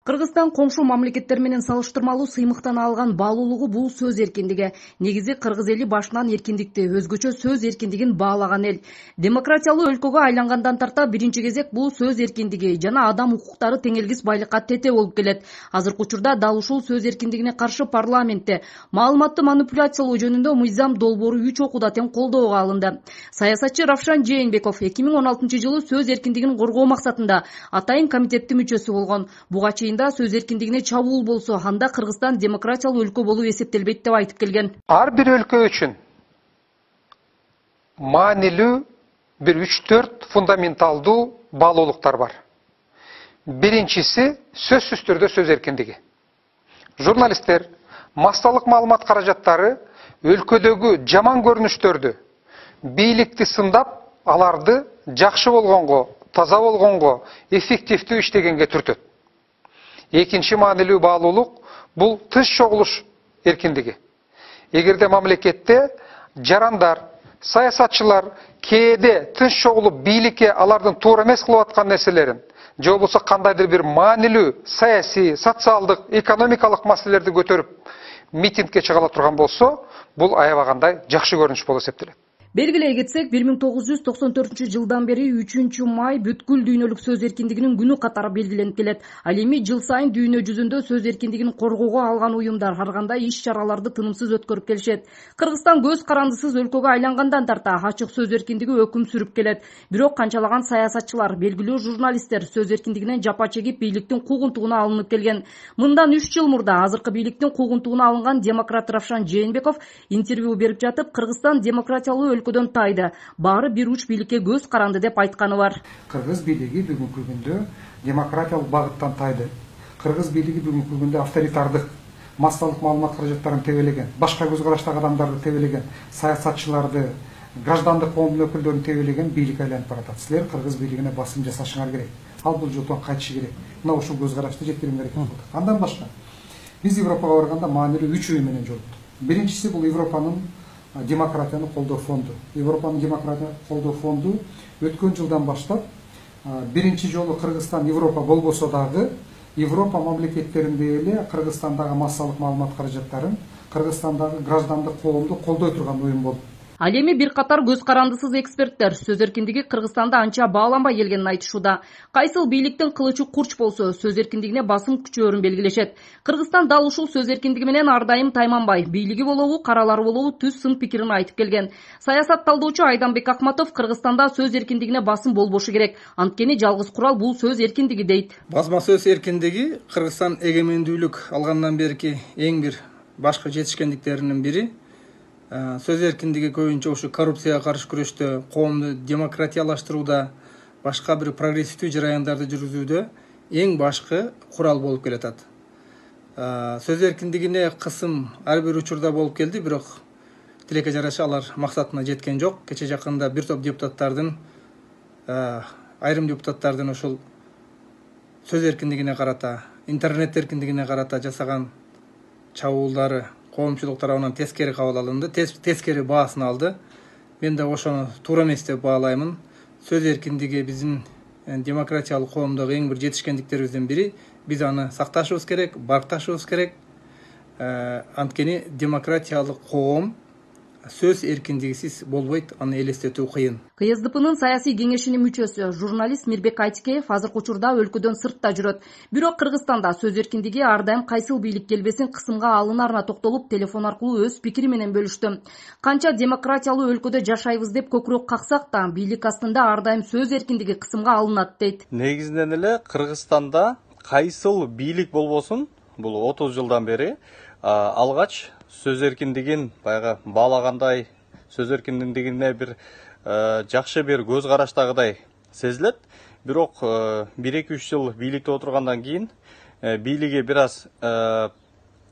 Кыргызстан коңшу мамлекеттер менен салыштырмалуу сыймыктан алган баалуулугу бул сөз эркиндиги. Негизи кыргыз эли башынан эркиндикти, өзгөчө сөз эркиндигин баалаган эл. Демократиялуу өлкөгө айлангандан тарта биринчи кезек бул сөз эркиндиги жана адам укуктары теңелгис байлыкка тете болуп келет. Азыркы учурда дал ушул сөз эркиндигине каршы парламентте маалыматты манипуляциялоо жөнүндө мыйзам долбоору 3 окууда тең колдоого алынды. Саясатчы Равшан Жээнбеков 2016-жылы сөз эркиндигин коргоо максатында атайын комитеттин мүчөсү болгон. Буга чейин сөз эркиндигине чабуул болсо, анда Кыргызстан демократиялуу өлкө болуп эсептелбейт деп айтып келген. Ар бир өлкө үчүн маанилүү бир 3-4 фундаменталдуу баалуулуктар бар. Биринчиси сөзсүз түрдө сөз эркиндиги. Журналисттер, массалык маалымат каражаттары өлкөдөгү жаман көрүнүштөрдү, бийликти сындап, аларды жакшы болгонго, таза болгонго, эффективдүү иштегенге түртөт. Экинчи маанилүү баалуулук бул тыш чогулуш эркиндиги. Эгерде мамлекетте жарандар, саясатчылар кээде тыш чогулуп бийликке алардын туура эмес кылып аткан нерселерин, же болбосо кандайдыр бир маанилүү саясий, социалдык, экономикалык маселелерди көтөрүп митингге чыгала турган болсо, бул аябагандай жакшы көрүнүш болуп эсептелет. Белгилей кетсек, 1994-жылдан бери 3-май бүткүл дүйнөлүк сөз эркиндигинин күнү катары белгиленип келет. Ал эми жыл сайын дүйнө жүзүндө сөз эркиндигин коргоого алган уюмдар ар кандай иш-чараларды тынымсыз өткөрүп келишет. Кыргызстан көз карандысыз өлкөгө айлангандан тарта ачык сөз эркиндиги өкүм сүрүп келет. Бирок канчалаган саясатчылар, белгилүү журналисттер сөз эркиндигинен жапа чегип бийликтин куугунтугуна алынып келген. Мындан 3 жыл мурда азыркы бийликтин куугунтугуна алынган демократ Равшан Жээнбеков интервью берип жатып, Кыргызстан демократиялуу өлкөдөн тайды, баары бир уч бийликке көз каранды деп айтканы бар. Кыргыз бийлиги бүгүнкү күндө демократиялык багыттан тайды. Кыргыз бийлиги бүгүнкү күндө авторитардык, массалык маалымат каражаттарын тебелеген, башка көз караштагы адамдарды тебелеген, саясатчыларды, граждандык коомдун өкүлдөрүн тебелеген бийлик айланып баратат. Силер кыргыз бийлигине басым жасашыңар керек. Ал бул жолдон кайтышы керек. Мына ушул көз карашты жеткириңер керек. Андан башка биз Европага барганда маанилүү 3 уюм менен жолуктук. Биринчиси бул Европанын демократияны колдоо фонду. Европанын демократия колдоо фонду өткөн жылдан баштап биринчи жолу Кыргызстан Европа болбосо дагы Европа мамлекеттеринде эле Кыргызстандагы массалык маалымат каражаттарын, Кыргызстандагы граждандык коомду колдой турган уюм болду. Ал эми бир катар көз карандысыз эксперттер сөз эркиндиги Кыргызстанда анча бааланбай келгенин айтышууда. Кайсыл бийликтин кылычы курч болсо, сөз эркиндигине басым күчөөрүн белгилешет. Кыргызстан дал ушул сөз эркиндиги менен ар дайым тайманбай, бийлиги болобу, каралары болобу түз сын пикирин айтып келген. Саясат талдоочу Айданбек Акматов Кыргызстанда сөз эркиндигине басым болбошу керек. Анткени жалгыз курал бул сөз эркиндиги дейт. Басма сөз эркиндиги Кыргызстан эгемендүүлүк алгандан берки эң бир башкы жетишкендиктеринин бири. Сөз эркиндиги көбүнчө ушу коррупцияга каршы күрөштө, коомду демократиялаштырууда, башка бир прогрессивдүү жараяндарды жүргүзүүдө эң башкы курал болуп келатат. Сөз эркиндигине кысым ар бир учурда болуп келди, бирок тилекке жараша алар максатына жеткен жок. Кече жакында бир топ депутаттардын, айрым депутаттардын ошол сөз эркиндигине карата, интернет эркиндигине карата жасаган чабуулдары коомчулук тарабынан тескери кабыл алынды, тескери баасын алды. Мен да ошону туура эмес деп баалаймын. Сөз эркиндиги биздин демократиялык коомдогу эң бир жетишкендиктерибиздин бири. Биз аны сакташыбыз керек, баркташыбыз керек. Анткени демократиялык коом сөз эркиндигисиз болбойт, аны элестетүү кыйын. КСДПнын саясий кеңешинин мүчөсү журналист Мирбек Айтикеев азыркы учурда өлкөдөн сыртта жүрөт. Бирок Кыргызстанда сөз эркиндиги ар дайым кайсыл бийлик келбесин кысымга алынарына токтолуп, телефон аркылуу өз пикири менен бөлүштү. Канча демократиялуу өлкөдө жашайбыз деп көкүрөк каксак да, бийлик астында ар дайым сөз эркиндиги кысымга алынат дейт. Негизинен эле Кыргызстанда кайсыл бийлик болбосун, бул 30 жылдан бери алгач сөз эркиндигин баягы баалагандай, сөз эркиндигине бир жакшы бир көз караштагыдай сезилет. Бирок 1-2-3 жыл бийликте отургандан кийин бийлиги бир аз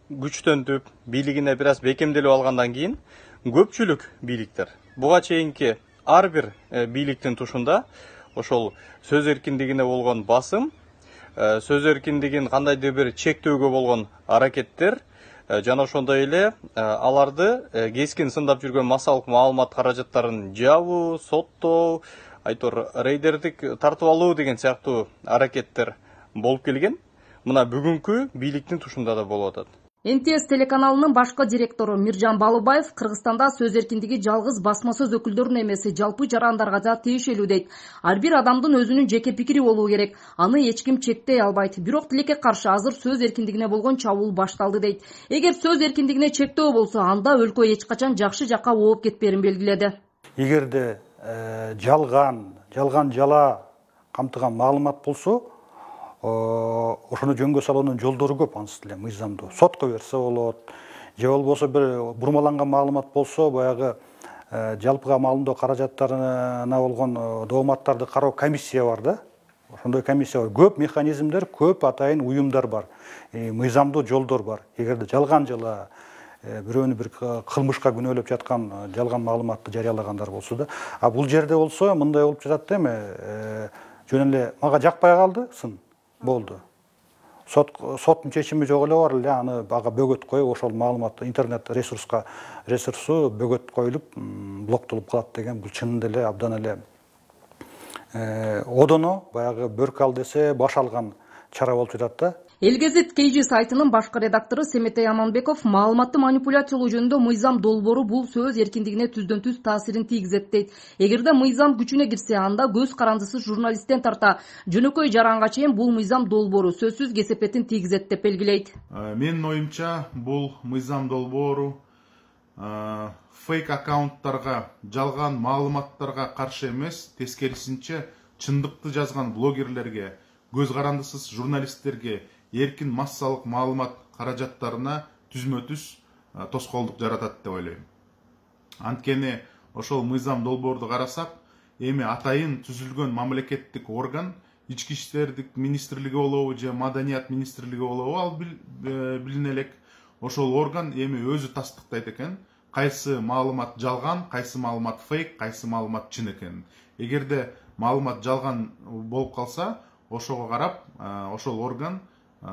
күчтөнүп, бийлигине бир аз бекемделип алгандан кийин көпчүлүк бийликтер буга чейинки ар бир бийликтин тушунда ошол сөз эркиндигине болгон басым, сөз эркиндигин кандайдыр бир чектөөгө болгон аракеттер жана ошондой эле аларды кескин сындап жүргөн массалык маалымат каражаттарын жабуу, соттоо, айтор рейдердик тартып алуу деген сыяктуу аракеттер болуп келген. мына бүгүнкү бийликтин тушунда да болуп атат. МТС телеканалынын башкы директору Миржан Балыбаев Кыргызстанда сөз эркиндиги жалгыз басма сөз өкүлдөрүнө эмес, жалпы жарандарга да тиешелүү дейт. Ар бир адамдын өзүнүн жеке пикири болуу керек. Аны эч ким чектей албайт. Бирок тилекке каршы азыр сөз эркиндигине болгон чабуул башталды дейт. Эгер сөз эркиндигине чектөө болсо, анда өлкө эч качан жакшы жакка ооп кетпээрин белгиледи. Эгерде жалган жала камтыган маалымат болсо, ошону жөнгө салуунун жолдору көп, анысы деле мыйзамдуу. Сотко берсе болот, же болбосо бир бурмаланган маалымат болсо, баягы жалпыга маалымдоо каражаттарына болгон дооматтарды кароо комиссия бар да. Ошондой комиссия бар. Көп механизмдер, көп атайын уюмдар бар. Мыйзамдуу жолдор бар. Эгерде жалган жала бирөөнү бир кылмышка күнөөлөп жаткан жалган маалыматты жарыялагандар болсо да, а бул жерде болсо мындай болуп жатат да эми, жөн эле мага жакпай калды, сын болду. Соттун чечими жок эле бар эле, аны ага бөгөт коюп, ошол маалыматты интернет ресурсу бөгөт коюлуп, блоктолуп калат деген, бул чынында эле абдан эле одоно баягы бөрк ал десе баш алган чара болуп жатат да. Элгезит KG сайтынын башкы редактору Семетей Аманбеков маалыматты манипуляциялоо жөнүндө мыйзам долбоору бул сөз эркиндигине түздөн-түз таасирин тийгизет дейт. Эгерде мыйзам күчүнө кирсе, анда көз карандысыз журналисттен тарта жөнөкөй жаранга чейин бул мыйзам долбоору сөзсүз кесепетин тийгизет деп белгилейт. Менин оюмча, бул мыйзам долбоору фейк аккаунттарга, жалган маалыматтарга каршы эмес, тескерисинче чындыкты жазган блогерлерге, көз карандысыз журналисттерге, эркин массалык маалымат каражаттарына түзмө-түз тоскоолдук жаратат деп ойлойм. Анткени ошол мыйзам долбоорду карасак, эми атайын түзүлгөн мамлекеттик орган, ички иштердик министрлиги болобу же маданият министрлиги болобу, ал билине элек. Ошол орган эми өзү тастыктайт экен, кайсы маалымат жалган, кайсы маалымат фейк, кайсы маалымат чын экенин. Эгерде маалымат жалган болуп калса, ошого карап, ошол орган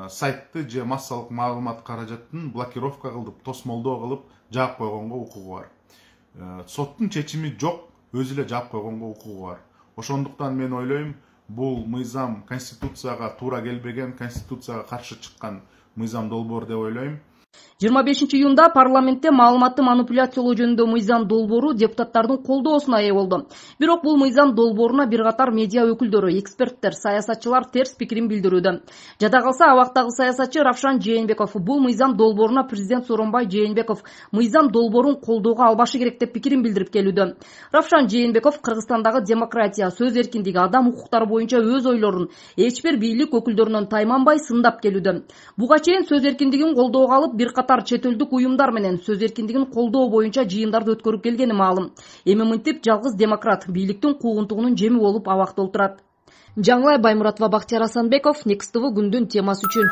сайтты же массалык маалымат каражатын блокировка кылып, тосмолдоо кылып, жаап койгонго укугу бар. Соттун чечими жок, өзү эле жаап койгонго укугу бар. Ошондуктан мен ойлойм, бул мыйзам конституцияга туура келбеген, конституцияга каршы чыккан мыйзам долбоор деп ойлойм. 25 июнда парламентте маалыматты манипуляциялоо жөнүндө мыйзам долбоору депутаттардын колдоосуна ээ болду. Бирок бул мыйзам долбооруна бир катар медиа өкүлдөрү, эксперттер, саясатчылар терс пикирин билдирүүдө. Жада калса, абактагы саясатчы Равшан Жээнбеков бул мыйзам долбооруна президент Сооронбай Жээнбеков мыйзам долбоорун колдоого албашы керек деп пикирин билдирип келүүдө. Равшан Жээнбеков Кыргызстандагы демократия, сөз эркиндиги, адам укуктары боюнча өз ойлорун эч бир бийлик өкүлдөрүнөн тайманбай сындап келүүдө. Буга чейин сөз эркиндигин колдоого алып, бир катар чет элдик уюмдар менен сөз эркиндигин колдоо боюнча жыйындарды өткөрүп келгени маалым. Эми мынтип жалгыз демократ бийликтин куугунтугунун жеми болуп абакта отурат. Жаңылай Баймуратова, Бактияр Асанбеков, Next TV күндүн темасы үчүн.